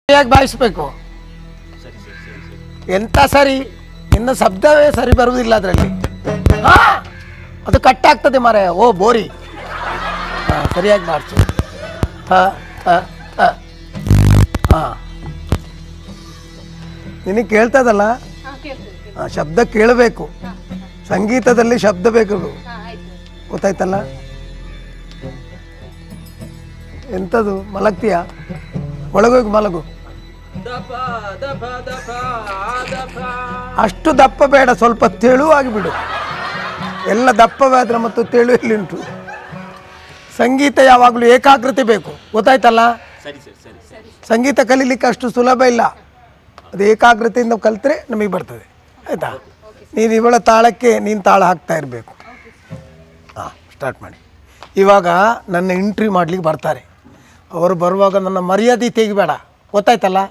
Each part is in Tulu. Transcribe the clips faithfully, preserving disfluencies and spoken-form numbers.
ಸರಿಯಾಗಿ ಬಾಯಿಸಬೇಕು. ಎಂತ ಸರಿ, ನಿನ್ನ ಶಬ್ದವೇ ಸರಿ ಬರುವುದಿಲ್ಲ ಅದರಲ್ಲಿ. ಅದು ಕಟ್ ಆಗ್ತದೆ ಮಾರಾಯ. ಓ ಬೋರಿ, ಹಾಂ ಸರಿಯಾಗಿ ಮಾಡಿಸು. ಥ ಥ ಥ. ಹಾಂ, ನಿನಗೆ ಕೇಳ್ತದಲ್ಲ? ಹಾಂ, ಶಬ್ದ ಕೇಳಬೇಕು. ಸಂಗೀತದಲ್ಲಿ ಶಬ್ದ ಬೇಕು, ಗೊತ್ತಾಯ್ತಲ್ಲ? ಎಂಥದ್ದು ಮಲಗ್ತೀಯಾ? ಒಳಗೋಗಿ ಮಲಗು. ಅಷ್ಟು ದಪ್ಪ ಬೇಡ, ಸ್ವಲ್ಪ ತೆಳುವಾಗಿ ಬಿಡು. ಎಲ್ಲ ದಪ್ಪವಾದ್ರೆ ಮತ್ತು ತೆಳು ಎಲ್ಲಿಂಟು? ಸಂಗೀತ ಯಾವಾಗಲೂ ಏಕಾಗ್ರತೆ ಬೇಕು, ಗೊತ್ತಾಯ್ತಲ್ಲ? ಸಂಗೀತ ಕಲೀಲಿಕ್ಕೆ ಅಷ್ಟು ಸುಲಭ ಇಲ್ಲ, ಅದು ಏಕಾಗ್ರತೆಯಿಂದ ಕಲಿತ್ರೆ ನಮಗೆ ಬರ್ತದೆ, ಆಯಿತಾ? ನೀನು ಇವಳ ತಾಳಕ್ಕೆ ನೀನು ತಾಳ ಹಾಕ್ತಾ ಇರಬೇಕು. ಹಾಂ, ಸ್ಟಾರ್ಟ್ ಮಾಡಿ. ಇವಾಗ ನನ್ನ ಎಂಟ್ರಿ ಮಾಡಲಿಕ್ಕೆ ಬರ್ತಾರೆ. ಅವರು ಬರುವಾಗ ನನ್ನ ಮರ್ಯಾದೆ ತೆಗಿಬೇಡ, ಗೊತ್ತಾಯ್ತಲ್ಲ?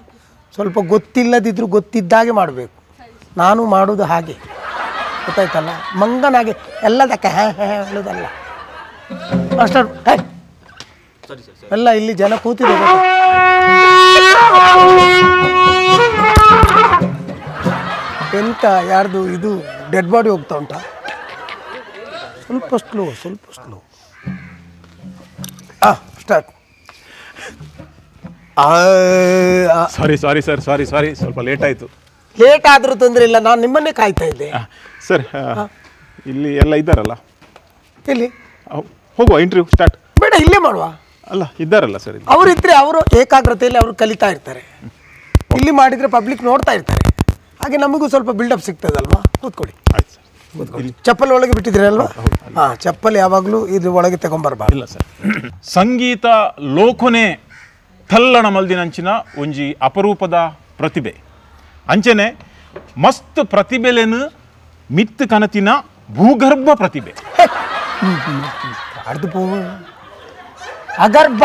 ಸ್ವಲ್ಪ ಗೊತ್ತಿಲ್ಲದಿದ್ದರೂ ಗೊತ್ತಿದ್ದಾಗೆ ಮಾಡಬೇಕು. ನಾನು ಮಾಡೋದು ಹಾಗೆ, ಗೊತ್ತಾಯ್ತಲ್ಲ? ಮಂಗನಾಗೆ ಎಲ್ಲದಕ್ಕೆ ಹೇ ಹೇ ಹೇಳೋದಲ್ಲ. ಅಷ್ಟು ಎಲ್ಲ ಇಲ್ಲಿ ಜನ ಕೂತಿದೆ. ಎಂತ ಯಾರ್ದು ಇದು ಡೆಡ್ ಬಾಡಿ ಹೋಗ್ತಾ ಉಂಟಾ? ಸ್ವಲ್ಪ ಸ್ಲೋ, ಸ್ವಲ್ಪ ಸ್ಲೋ. ಹಾಂ, start. Sorry sorry sir, sorry sorry, ಸ್ವಲ್ಪ ಲೇಟ್ ಆಯಿತು. ಲೇಟ್ ಆದರೂ ತೊಂದರೆ ಇಲ್ಲ, ನಾನು ನಿಮ್ಮನ್ನೇ ಕಾಯ್ತಾ ಇದ್ದೆ ಸರ್. ಇಲ್ಲಿ ಎಲ್ಲ ಇದ್ದಾರಲ್ಲ? ಇಲ್ಲಿ ಹೋಗುವ, ಇಂಟರ್ವ್ಯೂ ಸ್ಟಾರ್ಟ್. ಬೇಡ, ಇಲ್ಲೇ ಮಾಡುವ. ಅಲ್ಲ, ಇದ್ದಾರಲ್ಲ ಸರ್. ಅವರಿದ್ದರೆ ಅವರು ಏಕಾಗ್ರತೆಯಲ್ಲಿ ಅವರು ಕಲಿತಾ ಇರ್ತಾರೆ. ಇಲ್ಲಿ ಮಾಡಿದರೆ ಪಬ್ಲಿಕ್ ನೋಡ್ತಾ ಇರ್ತಾರೆ, ಹಾಗೆ ನಮಗೂ ಸ್ವಲ್ಪ ಬಿಲ್ಡಪ್ ಸಿಗ್ತದಲ್ವಾ? ಕೂತ್ಕೊಳ್ಳಿ. ಆಯ್ತು ಸರ್, ಕೂತ್ಕೊಳ್ಳಿ. ಚಪ್ಪಲ್ ಒಳಗೆ ಬಿಟ್ಟಿದ್ದೀರಲ್ವಾ? ಹಾಂ, ಚಪ್ಪಲ್ ಯಾವಾಗಲೂ ಇದ್ರ ಒಳಗೆ ತಗೊಂಬರ್ಬಾರ್ದು. ಇಲ್ಲ ಸರ್. ಸಂಗೀತ ಲೋಕನೇ ಥಲ್ಲಣ ಮಲ್ದಿನಂಚಿನ ಒಂಜಿ ಅಪರೂಪದ ಪ್ರತಿಭೆ. ಅಂಚನೆ ಮಸ್ತ್ ಪ್ರತಿಭೆಲೇನು ಮಿತ್ ಕನತಿನ ಭೂಗರ್ಭ ಪ್ರತಿಭೆ. ಅಗರ್ಭ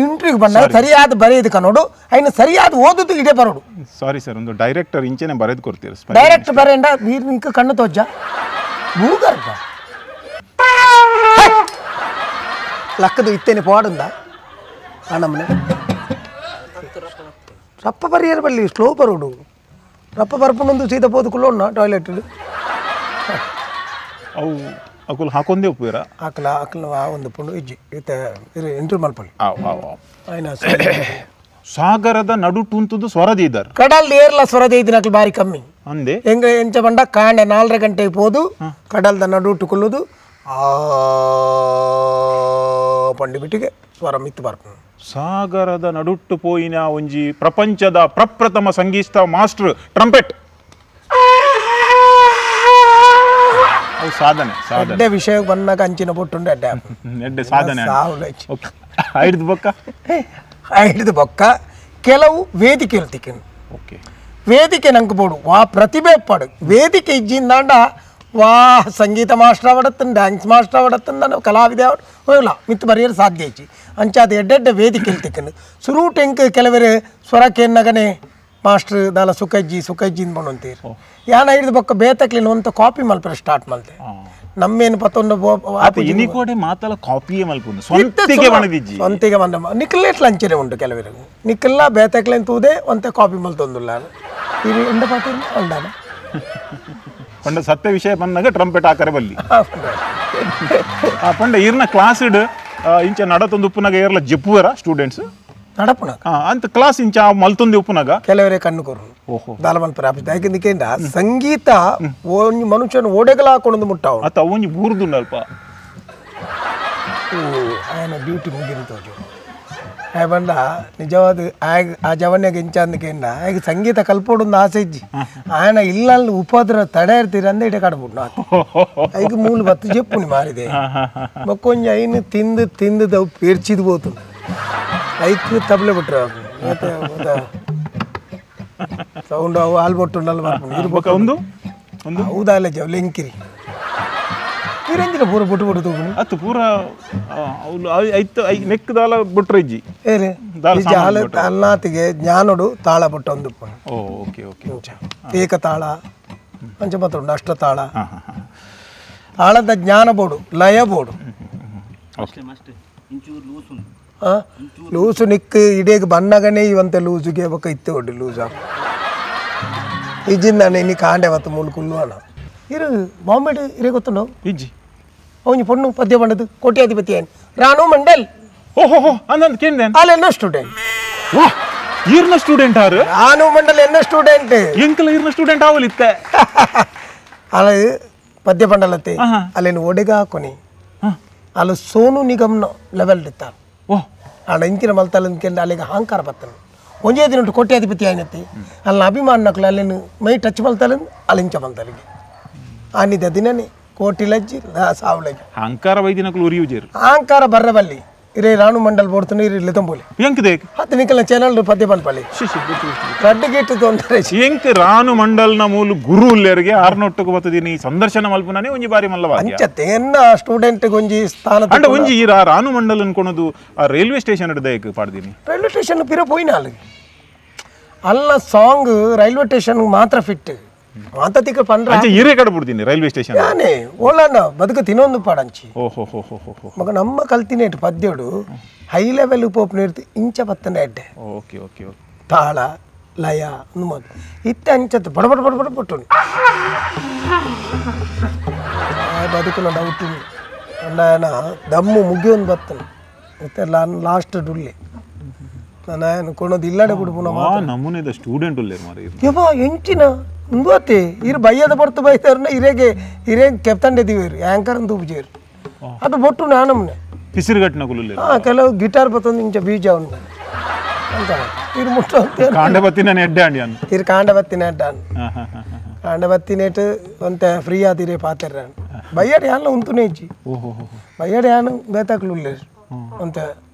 ಇಂಟ್ರಿಗೆ ಬಂದಾಗ ಸರಿಯಾದ ಬರೆಯೋದಕ್ಕೆ ನೋಡು, ಐನು ಸರಿಯಾದ ಓದುದು ಇದೇ ಬರೋಡು. ಸಾರಿ ಸರ್, ಒಂದು ಡೈರೆಕ್ಟರ್ ಇಂಚೆನೆ ಬರೆದು ಕೊಡ್ತೀರ? ಡೈರೆಕ್ಟರ್ ಬರೆಂಡ ವೀರ್ ಕಣ್ಣು ತೋಜ. ಭೂಗರ್ಭ ಲಕ್ಕದು ಇತ್ತೇನೆ ಪೋಡುಂದ ನಮ್ಮನೆ ರಪ್ಪ ಬರಿಯರ್ ಬಲ್ಲಿ ಸ್ಲೋ ಬರೋಡು. ರಪ್ಪ ಬರ್ಪುನೊಂದು ಸೀದಾ ಪೋದು ಕುಲ್ಲೋಣ ಟಾಯ್ಲೆಟ್. ಅವು ಅಕುಲ್ ಹಾಕೊಂದೇ ಉಪ್ಪುರ ಹಾಕಲ ಹಾಕಲ ಆ ಒಂದು ಪುಂಡು ಇಜ್ಜಿ ಇತ್ತೆ ಎಂಟ್ರಿ ಮಲ್ಪಲ್ಲಿ. ಆಯ್ನ ಸಾಗರದ ನಡುಟುಂತುದು ಸ್ವರದಿದ್ದಾರೆ. ಕಡಲ್ ಏರ್ಲ ಸ್ವರದ ಇದ್ದಿನಕ್ಲು ಬಾರಿ ಕಮ್ಮಿ ಅಂದೆ. ಹೆಂಗ ಎಂಚ ಬಂಡ ಕಾಂಡೆ ನಾಲ್ಕರ ಗಂಟೆಗೆ ಪೋದು ಕಡಲ್ದ ನಡುಟು ಕುಲ್ಲುದು ಆ ಪಂಡಿ ಬಿಟ್ಟಿಗೆ ಸ್ವರ ಮಿತ್ತು ಬರ್ಪು. ಸಾಗರದ ನಡುಟ್ಟು ಪೋಯಿನ ಒಂಜಿ ಪ್ರಪಂಚದ ಪ್ರಪ್ರಥಮ ಸಂಗೀತ ಮಾಸ್ಟರ್ ಟ್ರಂಪೆಟ್. ಸಾಧನೆ ಅಡ್ಡೆ ವಿಷಯ ಬಂದಾಗ ಅಂಚಿನ ಬೊಟ್ಟುಂಡು ಅಡ್ಡೆ ಎಡ್ಡೆ ಸಾಧನೆ ಹಿಡಿದು ಬೊಕ್ಕ ಹಿಡಿದು ಬೊಕ್ಕ ಕೆಲವು ವೇದಿಕೆ ತಿಕ್ಕನು. ಓಕೆ, ವೇದಿಕೆ ನಂಗೆ ಬೋಡು ವಾ ಪ್ರತಿಭೆ ಪಾಡು ವೇದಿಕೆ ಇಜ್ಜಿಂದಾಂಡ ವಾ ಸಂಗೀತ ಮಾಸ್ಟರ್ ಅವಡತ್ತನ್, ಡ್ಯಾನ್ಸ್ ಮಾಸ್ಟರ್ ಅವಡತ್ತನ್, ನಾನು ಕಲಾವಿದೆ ಅವಡು ಹೋಗಲ್ಲ ಮಿತ್ತು ಬರೆಯಲು ಸಾಧ್ಯ ಇಜ್ಜಿ. ಅಂಚಾದ ಎಡ್ಡೆಡ್ಡೆ ವೇದಿಕೆ ತಿಕ್ಕನು ಸುರೂಟ್ ಎಂಕ್ ಕೆಲವರು ಸ್ವರಕ್ಕೆ ಮಾಸ್ಟರ್ ದಾಲ ಸುಖಜ್ಜಿ ಸುಖಜ್ಜಿ ಅಂತೀರಿ. ಯಾನ ಹಿಡಿದು ಬೊಕ್ಕ ಬೇತಕ್ಲಿನ ಒಂದು ಕಾಪಿ ಮಲ್ಪರೆ ಸ್ಟಾರ್ಟ್ ಮಲ್ತೆ. ನಮ್ಮೇನು ಪತ್ತೊಂದು ಮಾತಲ್ಲ ಕಾಪಿಯೇ ಮಲ್ಪುಂಡು ಸ್ವಂತಿಗೆ ಮಣದಿಜ್ಜಿ ಸ್ವಂತಿಗೆ ಬಂದ ನಿಕ್ಕಲೇಟ್ ಲಂಚನೆ ಉಂಟು ಕೆಲವರು ನಿಕ್ಕಲ್ಲ ಬೇತಕ್ಲೇನ್ ತೂದೆ ಒಂತೆ ಕಾಪಿ ಮಲ್ತೊಂದುಲ್ಲ. ಇದು ಎಂಡ ಪಾತ್ರ ಅಂಡಾನ ಪಂಡ ಸತ್ಯ ವಿಷಯ ಬಂದಾಗ ಟ್ರಂಪೆಟ್ ಆಕರೆ ಬಲ್ಲಿ. ಆ ಪಂಡ ಈರ್ನ ಕ್ಲಾಸ್ ಇಡ್ ಇಂಚ ನಡತೊಂದು ಉಪ್ಪುನಾಗ ಏರ್ಲ ಜಪ್ಪುವರ ಸ್ಟೂಡೆಂಟ್ಸ್ ನಡಪುಣ ಅಂತ ಕ್ಲಾಸ್ ಇಂಚ ಮಲ್ತೊಂದು ಉಪ್ಪುನಾಗ ಕೆಲವರೇ ಕಣ್ಣು ಕೊರು. ಓಹೋ, ದಾಲ ಮಲ್ಪರೆ ಆಪಿಸ್ ಯಾಕೆಂದ ಸಂಗೀತ ಒಂಜಿ ಮನುಷ್ಯನ ಓಡೆಗಲ ಹಾಕೊಂಡು ಮುಟ್ಟಾವ ಅತ್ತ ಒಂಜಿ ಬೂರ್ದುಂಡಲ್ಪ. ಓ, ಆಯನ ಡ್ಯೂಟಿ ಮುಗಿದು ತೋಜು ಆಯ್ ಬಂಡ ನಿಜವಾದ ಆಯ್ ಆ ಜವನ್ಯಾಗ ಇಂಚ ಅಂದಕೇಂಡ ಆಗ ಸಂಗೀತ ಕಲ್ಪೋಡೊಂದು ಆಸೆ ಇಜ್ಜಿ. ಆಯನ ಇಲ್ಲ ಉಪದ್ರ ತಡೆ ಇರ್ತೀರ ಅಂದ ಇಡೆ ಕಾಡ್ಬಿಟ್ಟು ಐದು ಮೂಲು ಬತ್ತು ಜೆಪ್ಪುನಿ ಮಾರಿದೆ ಬೊಕ್ಕೊಂಜಿ ಐನು ತಿಂದು ತಿಂದು ಪೇರ್ಚಿದ್ ಬೋತು ಐಕ್ ತಬ್ಲೆ ಬಿಟ್ರೆ ಸೌಂಡ್ ಅವು ಹಾಲು ಬೊಟ್ಟುಂಡಲ್ಲ ಬರ್ಪುಂಡು. ಒಂದು ಒಂದು ಹೌದಾ ಅಲ್ಲ ಜವ್ ಲೆಂಕಿರಿ ಇರಂಜಿನ ಪೂರ ಬೊಟ್ಟು ಬೊಟ್ಟು ತೂಪುನಿ ಅತ್ತು ಪೂರ ಐತ್ I neck ದಾಲ ಬೊಟ್ರೆ ಇಜ್ಜಿ ಏರೆ ಜಾಲ ಅಲ್ನಾತಿಗೆ ಜ್ಞಾನೋಡು ತಾಳ ಬೊಟ್ಟು ಒಂದು ಓ ಓಕೆ ಓಕೆ ಏಕ ತಾಳ ಪಂಚಮತ್ರ ಉಂಟು ಅಷ್ಟ ತಾಳ ತಾಳದ ಜ್ಞಾನ ಬೋಡು ಲಯ ಬೋಡು. ಓಕೆ, ಇಂಚೂರು ಲೂಸ್ ಉಂಟು. ಹಾಂ ಲೂಸು ನಿಕ್ ಇಡೀಗ ಬಣ್ಣಗನೇ ಇವಂತ ಲೂಸುಗೆ ಬೊಕ್ಕ ಇತ್ತೆ ಒಡ್ಡು ಲೂಸು ಇಜ್ಜಿಂದಾನೆ ಇನ್ನು ಕಾಂಡೆ ಮತ್ತು ಮೂಲು ಕುಲ್ಲು ಅಣ್ಣ ಇರು ಬಾಂಬೆ ಇರೇ ಗೊತ್ತುಂಡು ಇಜ್ಜಿ ಅವನು ಪೊಣ್ಣು ಪದ್ಯ ಬಂಡದು ಕೋಟ್ಯಾಧಿಪತಿ ಏನು ರಾಣು ಮಂಡಲ್ ಓಹೋ ಅಂದಂದು ಕೇಂದ್ರ ಅಲ್ಲ ಎನ್ನ ಸ್ಟೂಡೆಂಟ್ ವಾ ಈರ್ನ ಸ್ಟೂಡೆಂಟ್ ಆರು ರಾಣು ಮಂಡಲ್ ಎನ್ನ ಸ್ಟೂಡೆಂಟ್ ಎಂಕಲ ಈರ್ನ ಸ್ಟೂಡೆಂಟ್ ಆವಲಿತ್ತೆ ಅಲ್ಲ ಪದ್ಯ ಬಂಡಲತ್ತೆ ಅಲ್ಲೇನು ಒಡೆಗ ಹಾಕೊನಿ ಅಲ್ಲಿ ಸೋನು ನಿಗಮ್ನ ಲೆವೆಲ್ ಇತ್ತ ಓಹ್ ಆಡ ಇಂಚಿನ ಮಲ್ತಲ್ಲ ಕೇಂದ್ರ ಅಲ್ಲಿಗೆ ಅಹಂಕಾರ ಬತ್ತನು ಒಂಜೇ ದಿನ ಕೋಟ್ಯಾಧಿಪತಿ ಆಯ್ನತ್ತೆ ಅಲ್ಲಿ ಅಭಿಮಾನಕ್ಲು ಅಲ್ಲೇನು ಮೈ ಟಚ್ ಮಲ್ತಲ್ಲ ಅಲ್ಲಿ ಇಂಚ ಮಲ್ತಲಿಗೆ ಆನಿದ ದಿನನೇ ಕೋಟಿ ಲಜ್ಜಿ ಸಾವು ಲಜ್ಜಿ ಅಹಂಕಾರ ವೈದಿನಕ್ಲು ಉರಿಯುಜೇರು ಅಹಂಕಾರ ಬರ್ರಬಲ್ಲಿ ಇರೇ ರಾಣು ಮಂಡಲ್ ಬೋಡ್ತಾನೆ ಇರಿ ಲಿತಂಬೋಲಿ ಎಂಕ್ ದೇಕ್ ಹತ್ತು ನಿಕಲ ಚಾನಲ್ ಪದ್ಯ ಪನ್ಪಲಿ ರಡ್ಡು ಗೇಟ್ ತೊಂದರೆ ಎಂಕ್ ರಾಣು ಮಂಡಲ್ನ ಮೂಲು ಗುರು ಉಲ್ಲೇರಿಗೆ ಆರ್ನೊಟ್ಟುಕು ಬತ್ತದಿನಿ ಸಂದರ್ಶನ ಮಲ್ಪುನಾನೆ ಒಂಜಿ ಬಾರಿ ಮಲ್ಲವಾ ಅಂಚತ್ತೆ ಎನ್ನ ಸ್ಟೂಡೆಂಟ್ ಒಂಜಿ ಸ್ಥಾನ ಅಂಡ ಒಂಜಿ ಈ ರಾಣು ಮಂಡಲ್ ಅನ್ಕೊಳೋದು ಆ ರೈಲ್ವೆ ಸ್ಟೇಷನ್ ದೇಕ್ ಪಾಡ್ದಿನಿ ರೈಲ್ವೆ ಸ್ಟೇಷನ್ ಪಿರ ಪೋಯಿನ ಅಲ್ಲಿಗೆ ಅಲ್ಲ song railway station ಮಾತ್ರ ಫಿಟ್ ಮಾತಾತಿಕ ಪಂಡ್ರ ಅಂಚೆ ಈರೇ ಕಡೆ ಬಿಡ್ತೀನಿ ರೈಲ್ವೆ ಸ್ಟೇಷನ್ ಯಾನೆ ಓಲಣ್ಣ ಬದುಕು ತಿನ್ನೊಂದು ಪಾಡಂಚಿ ಓಹೋ ಹೋ ಹೋ ಹೋ ಮಗ ನಮ್ಮ ಕಲ್ತಿನೇಟ್ ಪದ್ಯೋಡು ಹೈ ಲೆವೆಲ್ ಪೋಪ್ ನೀರ್ತು ಇಂಚ ಬತ್ತನೆ ಅಡ್ಡೆ okay okay okay ತಾಳ ಲಯ ಮಾತು ಇತ್ತೆ ಅಂಚತ್ತು ಬಡ ಬಡ ಬಡ ಬಡ ಪಟ್ಟು ಬದುಕುನ ಡೌಟ್ ಅಣ್ಣ ದಮ್ಮು ಮುಗಿಯೊಂದು ಬತ್ತನು ಮತ್ತೆ ಲಾಸ್ಟ್ ಡುಲ್ಲೆ ನಾನು ಕೊಣೋದು ಇಲ್ಲಡೆ ಬಿಡು ನಮೂನೆದ ಸ್ಟೂಡೆಂಟ್ ಉಲ್ಲೇರು ಮಾರೆ ಯವ್ವ ಎಂಚಿನ ಮುಂದುವತ್ತೆ ಇರು ಬಯ್ಯದ ಬಡ್ತು ಬೈತಾರನ ಇರೇಗೆ ಇರೇ ಕೆಪ್ತಂಡಿದ್ದೀವಿ ಆ್ಯಂಕರ್ ಅಂತ ಉಪಜೇರು ಅದು ಬೊಟ್ಟು ನಾನಮ್ಮನೆ ಪಿಸಿರುಗಟ್ಟಿನ ಕುಲುಲ್ಲೆ ಹಾಂ ಕೆಲವು ಗಿಟಾರ್ ಬತ್ತೊಂದು ಇಂಚ ಬೀಜ ಉಂಟು ಅಂತ ಇರು ಮುಟ್ಟು ಅಂತ ಕಾಂಡ ಬತ್ತಿನ ಎಡ್ಡೆ ಅಂಡಿ ಅನ್ನು ಇರು ಕಾಂಡ ಬತ್ತಿನ ಎಡ್ಡ ಕಾಂಡ ಬತ್ತಿನೇಟು ಒಂತೆ ಫ್ರೀ ಆದಿರೇ ಪಾತೆರ ಬಯ್ಯಡ ಯಾನ ಉಂತುನೇ ಇಜ್ಜಿ ಓಹೋ ಬಯ್ಯಡ ಯಾನು ಬೇತಾಕ್ಲು ಅಂತ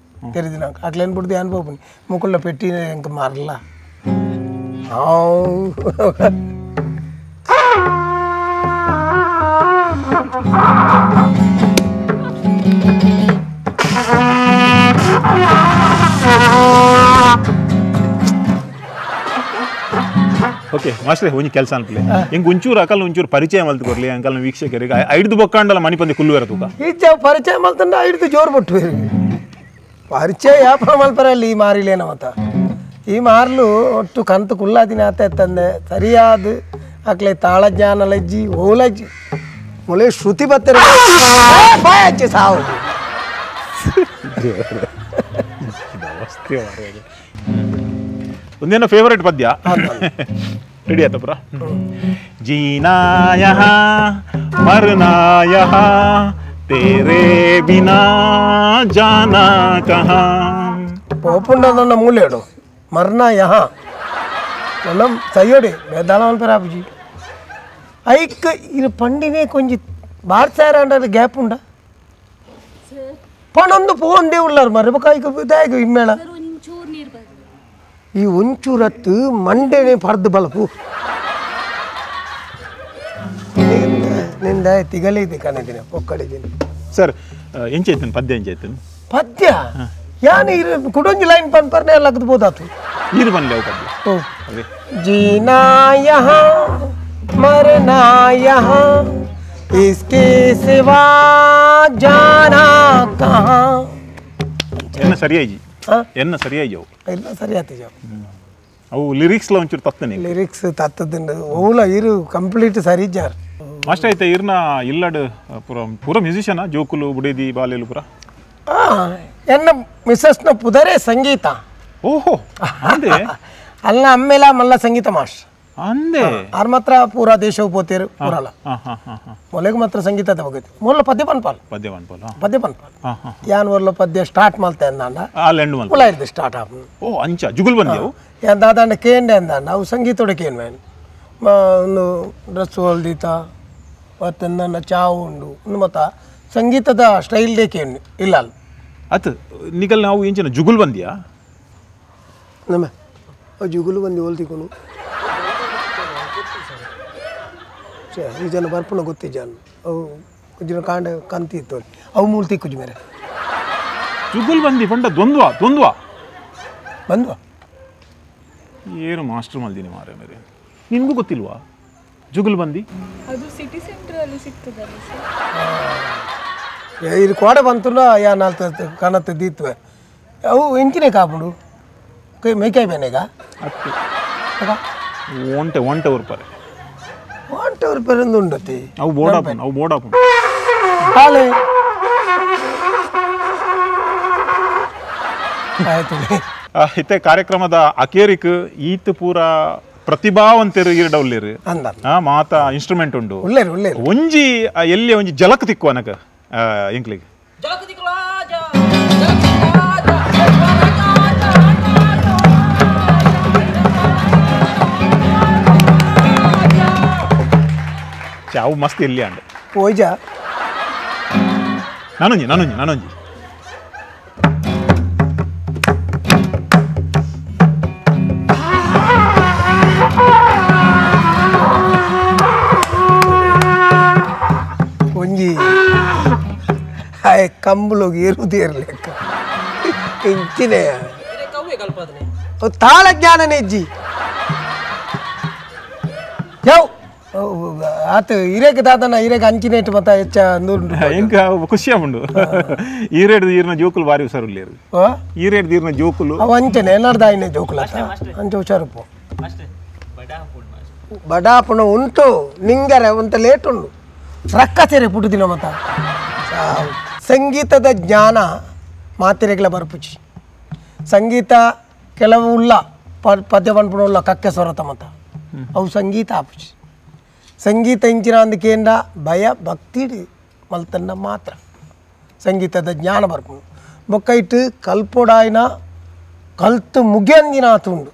ತೆರೆದಿನ ಅಟ್ಲೇನು ಬಿಡ್ದು ಯಾನ್ ಪೋಪುನಿ ಮುಕುಳ್ಳ ಪೆಟ್ಟಿ ಎಂಕ ಮಾರಲ್ಲ ಓಕೆ ಮಾಸ್ಟ್ರೆ ಒಂಜಿ ಕೆಲಸ ಅನ್ಪಲೆ ಎಂಕ್ ಒಂಚೂರು ಅಕಲ್ ಒಂಚೂರು ಪರಿಚಯ ಮಲ್ತು ಕೊರ್ಲಿ ಅಂಕಲ್ ವೀಕ್ಷಕರಿಗೆ ಐದು ಬೊಕ್ಕಾಂಡಲ ಮಣಿಪಂದಿ ಕುಲ್ಲುವೆರ ತೂಕ ಈಚ ಪರಿಚಯ ಮಲ್ತಂಡ ಐದು ಜೋರು ಬೊಟ್ಟು ಪರಿಚಯ ಯಾಪ ಮಲ್ಪರಲ್ಲಿ ಈ ಮಾರಿಲೇನ ಮತ್ತ ಈ ಮಾರ್ಲು ಒಟ್ಟು ಕಂತು ಕುಲ್ಲಾದಿನ ಆತ ತಂದೆ ಸರಿಯಾದ ಅಕ್ಲೆ ತಾಳಜ್ಞಾನ ಲಜ್ಜಿ ಓಲಜ್ಜಿ ಮೊಳೆ ಶ್ರುತಿ ಬತ್ತರ ಬಾಯಚ್ಚಿ ಸಾವು ಒಂದೇನೋ ಫೇವರೇಟ್ ಪದ್ಯ ರೆಡಿ ಆಯ್ತಪ್ರ ಜೀನಾ ಯಹಾ ಮರನಾ ಯಹಾ ತೇರೆ ಬಿನಾ ಜಾನಾ ಕಹಾ ಪೋಪುಂಡದನ್ನ ಮೂಲೆಡು ಮರನಾ ಯಹಾ ನನ್ನ ಸೈಯೋಡಿ ಬೇದಾಳ ಮಲ್ಪರ ಆಪುಜಿ ಐಕ್ ಇದು ಪಂಡಿನೇ ಕೊಂಜಿ ಬಾರ್ಸಾರ ಅಂಡರ್ ಗ್ಯಾಪ್ ಉಂಡ ಪಣೊಂದು ಪೋಂದೇ ಉಳ್ಳಾರು ಮರ ಬೊಕ ಐಕ್ ದಾಯಗ ಇಮ್ಮೇಳ ಈ ಒಂಚೂರತ್ತು ಮಂಡೆನೆ ಪರ್ದು ಬಲಪು ನಿಂದ ತಿಗಲಿದೆ ಕಣದಿನ ಪೊಕ್ಕಡಿದ್ದೀನಿ ಸರ್ ಎಂಚೈತನ್ ಪದ್ಯ ಎಂಚೈತನ್ ಪದ್ಯ ಯಾನು ಇರು ಕುಡೊಂಜಿ ಲೈನ್ ಪನ್ ಪರ್ನೆ ಲಗದು ಬೋದಾತು ನೀರು ಬನ್ಲೆ ಅವು ಪದ್ಯ ಓ जीना यहाँ मरना यहाँ इसके सिवा जाना कहाँ ಎನ್ನ ಸರಿಯಾಗಿ ಎನ್ನ ಸರಿಯಾಗಿ ಅವು ಇಲ್ಲ ಸರಿಯಾತಿ ಜಾವು ಅವು ಲಿರಿಕ್ಸ್ಲ ಒಂಚೂರು ತತ್ತನೆ ಲಿರಿಕ್ಸ್ ತತ್ತದಿಂದ ಓಲ ಇರು ಕಂಪ್ಲೀಟ್ ಸರಿ ಜಾರ್ ಮಾಸ್ಟರ್ ಐತೆ ಇರ್ನ ಇಲ್ಲಡ್ ಪೂರ ಪೂರ ಮ್ಯೂಸಿಷಿಯನ್ ಜೋಕುಲು ಬುಡೇದಿ ಬಾಲೆಲು ಪೂರ ಆ ಎನ್ನ ಮಿಸಸ್ನ ಪುದರೆ ಸಂಗೀತ ಓಹೋ ಅಂದೆ ಅಲ್ಲ ಅಮ್ಮೇಲ ಮಲ್ಲ ಸಂಗೀತ ಮಾಸ್ಟರ್ ಅಂದೆ ಆರ್ ಮಾತ್ರ ಪೂರಾ ದೇಶವು ಪೋತೇರು ಪೂರಲ್ಲ ಮೊಲೆಗೆ ಮಾತ್ರ ಸಂಗೀತದ ಬಗ್ಗೆ ಮೊದಲ ಪದ್ಯ ಪನ್ಪಾಲ್ ಪದ್ಯ ಪನ್ಪಾಲ್ ಪದ್ಯ ಪನ್ಪಾಲ್ ಯಾನ್ ಒರ್ಲ ಪದ್ಯ ಸ್ಟಾರ್ಟ್ ಮಲ್ತೆ ಅಂದಾಂಡ ಆ ಪುಲ ಇರ್ದು ಸ್ಟಾರ್ಟ್ ಆಪ್ ಓ ಅಂಚ ಜುಗುಲ್ ಬಂದೆವು ಯಾನ್ ದಾದಾಂಡ ಕೇಂಡೆ ಅಂದಾಂಡ ಅವು ಸಂಗೀತೋಡೆ ಕೇನ್ ಮೇನ್ ಒಂದು ಡ್ರೆಸ್ ಹೊಲ್ದೀತ ಮತ್ತೆ ನನ್ನ ಚಾವು ಉಂಡು ಒಂದು ಮತ್ತ ಸಂಗೀತದ ಸ್ಟೈಲ್ ಡೇ ಕೇನ್ ಇಲ್ಲ ಅಲ್ಲ ಅತ್ ನಿಕಲ್ ನಾವು ಇಂಚಿನ ಜುಗುಲ್ ಬಂದಿಯಾ ನಮ್ಮ ಜುಗುಲು ಬಂದು ಹೋಲ್ತಿಕೊನು ಈ ಜನ ಬರ್ಪುಣ ಗೊತ್ತಿಜ್ಜಾನು ಅವು ಕುಜ್ಜಿನ ಕಾಂಡ ಕಂತಿ ಇತ್ತು ಅವು ಮೂಲ ತಿಕ್ಕುಜಿ ಮೇರೆ ಜುಗುಲ್ ಬಂದಿ ಪಂಡ ದ್ವಂದ್ವ ದ್ವಂದ್ವ ಬಂದ್ವ ಏನು ಮಾಸ್ಟರ್ ಮಲ್ದಿನಿ ಮಾರೆ ಮೇರೆ ನಿನಗೂ ಗೊತ್ತಿಲ್ವಾ ಜುಗುಲ್ ಬಂದಿ ಅದು ಸಿಟಿ ಸೆಂಟರ್ ಅಲ್ಲಿ ಸಿಗ್ತದಲ್ಲ ಸರ್ ಇದು ಕೋಡೆ ಬಂತು ಯಾ ನಾಲ್ಕು ಕನತ್ತು ದೀತ್ವೆ ಅವು ಎಂಚಿನೇ ಕಾಪುಂಡು ಮೇಕಾಯಿ ಬೇನೆಗ ಒಂಟೆ ಒಂಟೆ ಉರ್ಪರೆ ಒಂಟೆ ಉರ್ಪರೆ ಒಂದು ಉಂಡತಿ ಅವು ಬೋಡಾಪುಂಡು ಅವು ಬೋಡಾಪುಂಡು ಹಾಲೆ ಆಯ್ತು. ಇತ್ತೆ ಕಾರ್ಯಕ್ರಮದ ಅಕೇರಿಕ್ ಈತ್ ಪೂರ ಪ್ರತಿಭಾವಂತರು ಈರ್ಡೌಲ್ಲೇರು ಮಾತ ಇನ್ಸ್ಟ್ರೂಮೆಂಟ್ ಉಂಡು ಒಂಜಿ ಎಲ್ಲಿ ಒಂಜಿ ಜಲಕ್ ತಿಕ್ಕುವ ಅನಕ ಎಂಕ್ಲಿಗೆ ಅವು ಮಸ್ತ್ ಎಲ್ಲಿ ಅಂಡ್ ಪೋಯ್ಜಾ ನಾನೊಂಜಿ ನಾನೊಂಜಿ ನಾನೊಂಜಿ ಒಂಜಿ ಹಾಯ್ ಕಂಬುಲೋಗಿ ಏರುವುದೇ ಇರಲಿಕ್ಕ ಇಂಚಿನೇ ತಾಳ ಜ್ಞಾನನೇ ಇಜ್ಜಿ ಯಾವ ಆತ ಹಿರೇಕ ದಾದನ ಹಿರೇಕ ಅಂಚಿನೇಟ್ ಮತ್ತ ಹೆಚ್ಚ ನೂರು ಎಂಕ ಖುಷಿ ಆಪುಂಡು ಈರೇಡ್ ಈರ್ನ ಜೋಕುಲು ಬಾರಿ ಹುಷಾರುಲ್ಲೇರು ಈರೇಡ್ ಈರ್ನ ಜೋಕುಲು ಅವು ಅಂಚನೆ ಏನಾರ್ದಾಯಿನ ಜೋಕುಲು ಅಂಚೆ ಹುಷಾರುಪ್ಪು ಬಡಾಪುಣ ಉಂಟು ನಿಂಗರೆ ಒಂತ ಲೇಟ್ ಉಂಡು ರಕ್ಕ ಸೇರೆ ಪುಟ್ಟುದಿನ ಮತ್ತ ಸಂಗೀತದ ಜ್ಞಾನ ಮಾತಿರೆಗ್ಲ ಬರ್ಪುಚಿ ಸಂಗೀತ ಕೆಲವು ಉಲ್ಲ ಪದ್ಯ ಪನ್ಪುಣ ಉಲ್ಲ ಕಕ್ಕೆ ಸೊರತ ಮತ್ತ ಅವು ಸಂಗೀತ ಆಪುಚಿ ಸಂಗೀತ ಇಂಚಿನ ಅಂದಕೇಂಡ ಭಯ ಭಕ್ತಿ ಮಲ್ತನ್ನ ಮಾತ್ರ ಸಂಗೀತದ ಜ್ಞಾನ ಬರ್ಪುಂಡು ಬೊಕ್ಕ ಇಟ್ಟು ಕಲ್ಪೊಡಾಯಿನ ಕಲ್ತು ಮುಗಿಯಂದಿನ ಆತುಂಡು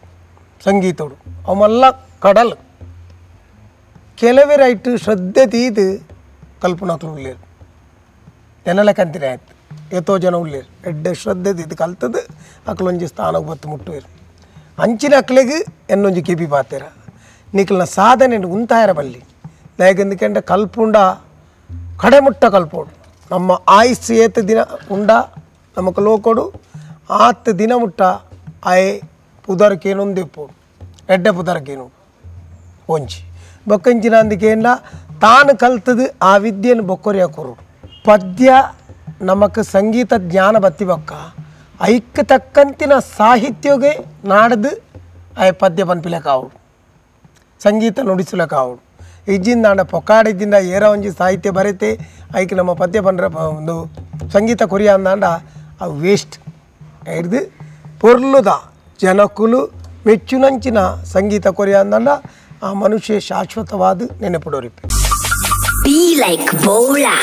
ಸಂಗೀತೋಡು ಅವಮಲ್ಲ ಕಡಲ್ ಕೆಲವೆರ ಇಟ್ಟು ಶ್ರದ್ಧೆ ತೀದು ಕಲ್ಪನಾಕ್ಲು ಉಳ್ಳೇರು ಎನ್ನಲ ಕಂತಿನ ಆಯ್ತು ಏತೋ ಜನ ಉಳ್ಳೇರು ಎಡ್ಡೆ ಶ್ರದ್ಧೆ ತೀದು ಕಲ್ತದ್ದು ಅಕ್ಲೊಂಜಿ ಸ್ಥಾನಕ್ಕೆ ಬತ್ತು ಮುಟ್ಟುವೇರು ಅಂಚಿನ ಅಕ್ಲೆಗ್ ಎನ್ನೊಂಜಿ ಕೆಬಿ ಪಾತೇರ ನಿಕ್ಲನ ಸಾಧನೆ ಉಂತಾಯರ ಬಲ್ಲಿ ದಾಯೆಗಂದಕೆಂಡ ಕಲ್ಪುಂಡ ಕಡೆಮುಟ್ಟ ಕಲ್ಪೋಡು ನಮ್ಮ ಆಯುಸ್ ಏತ ದಿನ ಉಂಡ ನಮಕ್ ಲೋಕೊಡು ಆತ್ ದಿನ ಮುಟ್ಟ ಆಯೆ ಪುದರ್ಕೇನೊಂದಿಪ್ಪೋಡು ಎಡ್ಡೆ ಪುದರ್ಕೇನು ಒಂಜಿ ಬೊಕ್ಕಂಚಿನ ಅಂದಕೇಂಡ ತಾನು ಕಲ್ತದು ಆ ವಿದ್ಯೆಯನ್ನು ಬೊಕ್ಕೊರಿಯ ಕೊರೋಡು ಪದ್ಯ ನಮಕ್ ಸಂಗೀತ ಜ್ಞಾನ ಬತ್ತಿ ಬೊಕ್ಕ ಐಕ್ ತಕ್ಕಂತಿನ ಸಾಹಿತ್ಯಗೆ ನಾಡ್ದು ಆಯೆ ಪದ್ಯ ಪನ್ಪಿಲಕಾವಡು ಸಂಗೀತ ನುಡಿಸಲಕ್ಕಾವಡು ಇಜ್ಜಿಂದಾಂಡ ಪೊಕ್ಕಾಡಿದ್ದಿಂದ ಏರ ಒಂಜಿ ಸಾಹಿತ್ಯ ಬರೆತೆ ಐಕ್ ನಮ್ಮ ಪದ್ಯ ಪಂಡ್ರ ಒಂದು ಸಂಗೀತ ಕೊರಿಯ ಅಂದಾಂಡ ಅವು ವೇಸ್ಟ್ ಹಿಡ್ದು ಪೊರ್ಲುದ ಜನಕುಲು ಮೆಚ್ಚುನಂಚಿನ ಸಂಗೀತ ಕೊರಿಯ ಅಂದಾಂಡ ಆ ಮನುಷ್ಯ ಶಾಶ್ವತವಾದ ನೆನಪುಡೋರಿಪ್ಪೆ. Be like Bola.